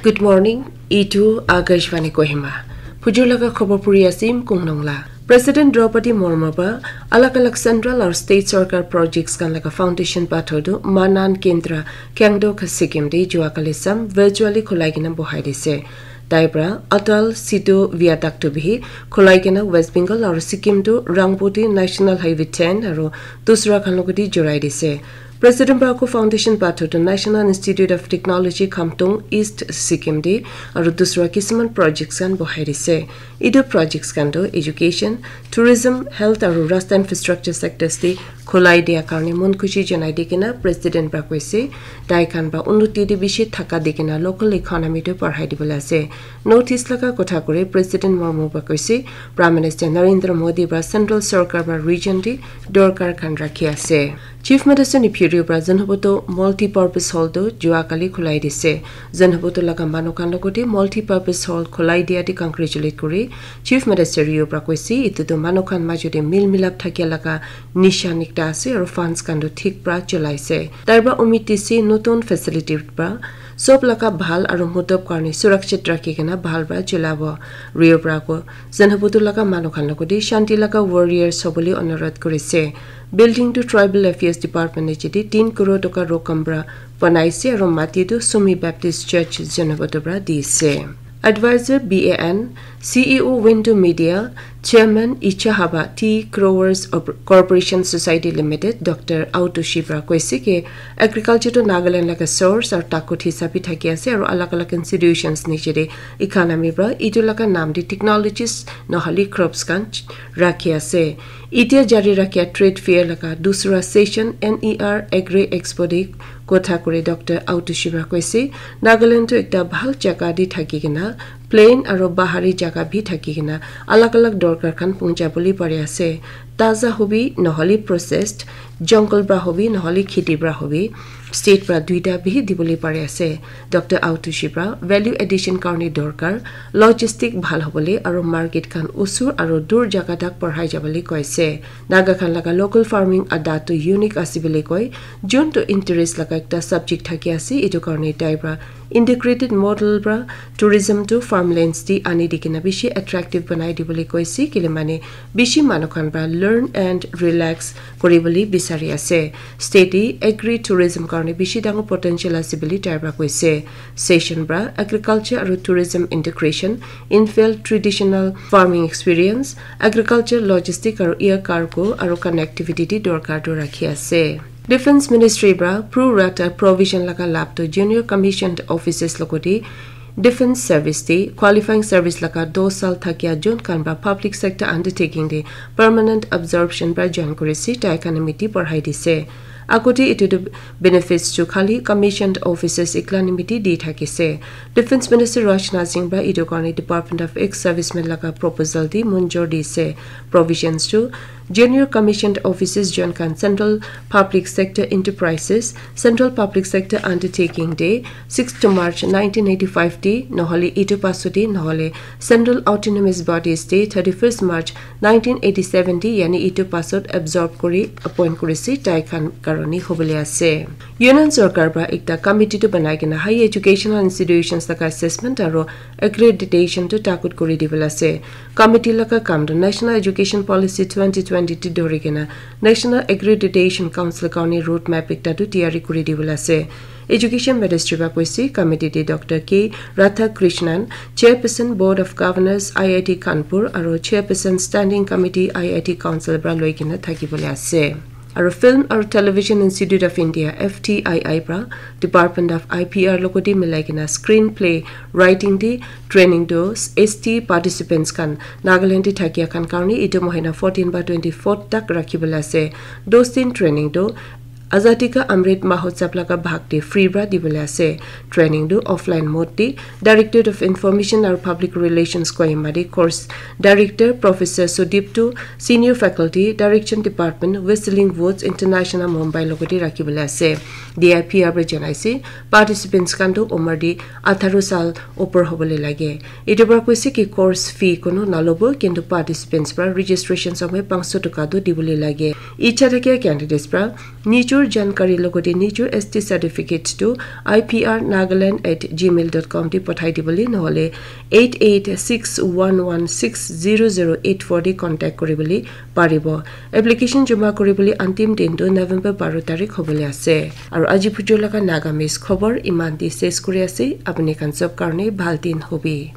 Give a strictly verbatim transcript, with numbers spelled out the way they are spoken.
Good morning, itu Akashvani Kohima. Phujur laga khobor puri asim kungnong la. President Draupadi Murmu ba alak alak central or state sarkar projects kan laga foundation pathor tu Manan Kendra Kyangdo ka Sikkim de jua kali sam virtually khulai kena bohai dise. Tai pra Atal Setu Viaduct tu bihi khulai kena West Bengal or Sikkim tu Rangpur de National Highway ten aro dusra khan logodi jorai dise. President Barack foundation pathor tu National Institute of Technology Khamtung East Sikkim de aru dusra kisiman projects khan bohai dise. Itu projects khan tu education, tourism, health aru rasta infrastructure sectors de khulai dia karne mon khushi janai di kena President Barack koise tai khan ba unnoti de bishi thaka di kena local economy tu parhai dibole ase. North East laga kotha kore President Murmu ba koise Prime Minister Narendra Modi ba central sarkar ba region de dorkar khan rakhi ase. Chief Minister Neiphiu Rio pra Zunheboto Multi-Purpose Hall tu jua kali khulai dise. Zunheboto laga manu khan logodi Multi-Purpose Hall khulai dia di congratulate kuri Chief Minister Rio pra koise itu tu manu khan majo de mil milap thakia laga nishan ekta ase aru funds khan tu thik pra chulai se. Tai pra umid dise notun facility pra sob laga bhal aru mudob karne surakshit rakhi kena bhal pra chulabo. Rio pra ko Zunheboto laga manu khan logodi shanti laga warriors hobole onurodh kuri se. Building tu Tribal Affairs Department niche de tin crore toka rokam pra banai se aru mati tu Sumi Baptist Church Zunheboto pra di se. Advisor B A N, C E O Window Media, Chairman Ichahaba Tea Growers Op- Corporation Society Limited, Doctor Auto Shibra koise ke agriculture to Nagaland laga source aru takut hisab bi thaki ase aru alag alag institutions niche de economy pra itu laga naam de technologies nohole crops khan rakhi ase. Itia jari rakhia trade fair laga dusra session N E R Agri Expo de kotha kuri Doctor Auto Shibra koise, Nagaland tu ekta bhal jaga de thaki kena plain aru bahari jaga bi thaki kena alag alag dorkar khan puncha bole pari ase. Taza hobi nohole processed, jungle pra hobi nohole kheti pra hobi, state pra duita bi dibole pari ase. Doctor Auto Shibra value addition karne dorkar, logistic bhal hobole aru market khan usur aru dur jaga tak parhai jabole koise. Naga khan laga local farming ada tu unique ase bole koi, jun tu interest laga ekta subject thaki ase, itu karne tai pra integrated model pra tourism tu farmlands de ani di kena bishi attractive banai dibole koise, kile mane bishi manu khan pra learn and relax kuri bole bisari ase. State de agri tourism karne bishi dangor potential ase bole tai pra koise. Session pra agriculture aru tourism integration, infield traditional farming experience, agriculture logistic aru air cargo aru connectivity de dorkar tu rakhi ase. Defense Ministry pra pro rata provision laga lab tu junior commissioned officers logodi defense service de qualifying service laga dos sal thakia jun khan pra public sector undertaking de permanent absorption pra join kuri se tai khan miti parhai dise. Akote itu tu benefits tu khali commissioned officers ikla nimiti di thakise. Defense Minister Rajnath Singh pra itu karne Department of Ex-Servicemen laga proposal de munjor dise. Provisions tu junior commissioned officers join khan Central Public Sector Enterprises, Central Public Sector Undertaking de sixth March nineteen eighty-five de nohole itu pasot de nohole Central Autonomous Bodies de thirty-first March nineteen eighty-seven de yani itu pasot absorb kuri appoint kuri se tai khan karone hobole ase. Union Sarkar pra ekta committee tu banai kena high educational institutions laga assessment aru accreditation tu takut kuri dibole ase. Committee laga kam tu National Education Policy twenty twenty tu dhori kena National Accreditation Council karne roadmap ekta tu tiyari kuri dibole ase. Education Ministry pra koise committee de Doctor K Radhakrishnan, Chairperson Board of Governors I I T Kanpur aru Chairperson Standing Committee I I T Council pra loi kena thaki bole ase. Aru Film aru Television Institute of India F T I I pra Department of I P R logodi milai kena screenplay writing de training tu S T participants khan Nagaland de thakia khan karne itu mohina fourteen ba twenty-fourth tak rakhi bole ase. Dos din training tu Azadi Ka Amrit Mahotsav laga bhag de free pra dibole ase. Training tu offline mode de Directorate of Information aru Public Relations Kohima de course director Professor Sudip tu Senior Faculty, Direction Department, Whistling Woods International Mumbai logodi rakhi bole ase. D I P R pra janai se participants khan tu umar de atharo sal upor hobole lage. Itu pra koise ki course fee kono nalobo kintu participants pra registration somoy panch sho toka tu dibole lage. Icha thakia candidates pra nijor Jankari logote nijor S T certificate to I P R Nagaland at gmail dot com te pathai dibole nohole eight eight six one one six zero zero eight four te contact kuribole paribo. Application joma kuribole antim din tu November baro tarik hobole ase. Aru aji pujor laga Nagamese khobor iman te ses kuri ase. Apuni khan sob karone bhal din hobi.